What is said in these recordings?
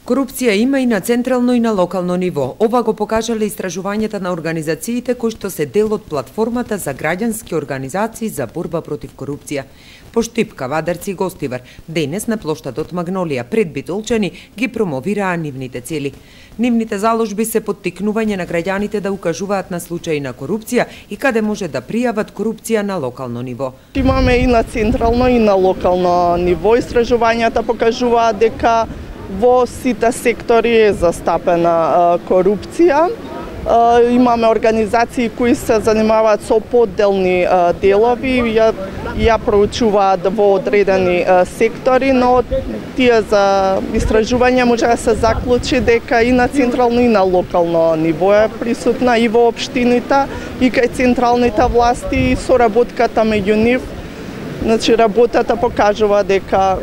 Корупција има и на централно и на локално ниво. Ова го покажале истражувањата на организациите кои што се дел од платформата за граѓански организации за борба против корупција. По Штипка, Вадарци и Гостивар, денес на плоштадот Магнолија пред Битолчани ги промовираа нивните цели. Нивните заложби се поттикнување на граѓаните да укажуваат на случаи на корупција и каде може да пријават корупција на локално ниво. Имаме и на централно и на локално ниво. Истражувањата покажуваат дека во сите сектори е застапена корупција. Имаме организации кои се занимаваат со поделни делови, ја проучуваат во одредени сектори, но тие за истражување може да се заклучи дека и на централно и на локално ниво е присутна и во општините, и кај централните власти, и соработката меѓу нив. Значи, работата покажува дека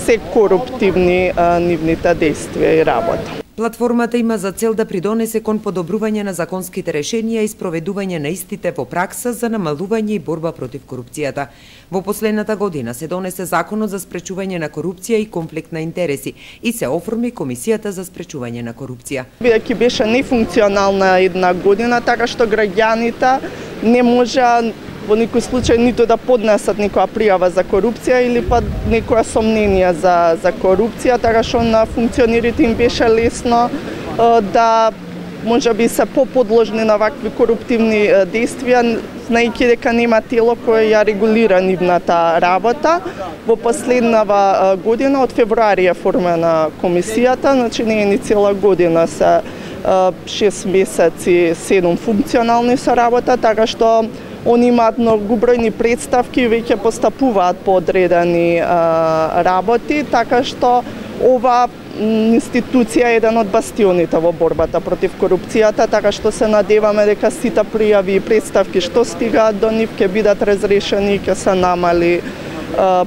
се коруптивни нивните действија и работа. Платформата има за цел да придонесе кон подобрување на законските решенија и спроведување на истите во пракса за намалување и борба против корупцијата. Во последната година се донесе Законот за спречување на корупција и конфликт на интереси и се оформи Комисијата за спречување на корупција. Бидејќи беше нефункционална една година, така што граѓаните не можа во никој случај ниту да поднесат никоја пријава за корупција или па некоја сомнение за корупција, така што на функционерите им беше лесно да можеби се поподложни на вакви коруптивни действија, знаејќи дека нема тело кое ја регулира нивната работа. Во последнава година, од февруари е формена комисијата, значи не е ни цела година, се 6 месеци, 7 функционални со работа, така што они имаат многу бројни представки и веќе постапуваат по одредени работи, така што ова институција е еден од бастионите во борбата против корупцијата, така што се надеваме дека сите пријави и представки што стигаат до нив ќе бидат разрешени и ќе се намали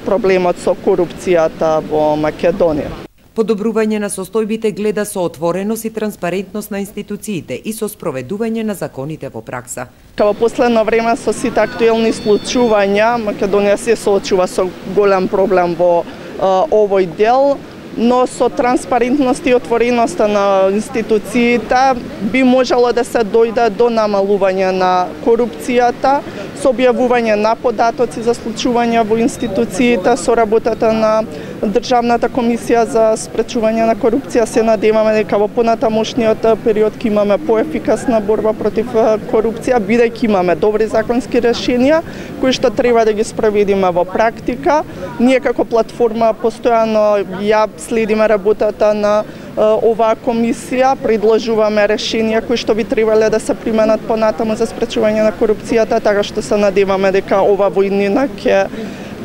проблемот со корупцијата во Македонија. Подобрување на состојбите гледа со отвореност и транспарентност на институциите и со спроведување на законите во пракса. Во последно време со сите актуелни случувања, Македонија се соочува со голем проблем во овој дел, но со транспарентност и отвореноста на институциите би можело да се дојде до намалување на корупцијата, со објавување на податоци за случувања во институциите, со работата на Државната комисија за спречување на корупција. Се надеваме дека во понатамошниот период ќе имаме поефикасна борба против корупција, бидејќи имаме добри законски решенија кои што треба да ги спроведиме во практика. Ние како платформа постојано ја следиме работата на оваа комисија, предложуваме решенија кои што би требале да се применат понатаму за спречување на корупцијата, така што се надеваме дека ова војнина ќе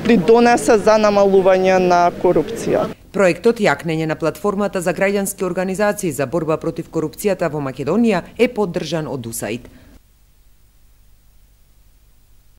придонесе за намалување на корупција. Проектот Јакнење на платформата за граѓански организации за борба против корупцијата во Македонија е поддржан од УСАИД.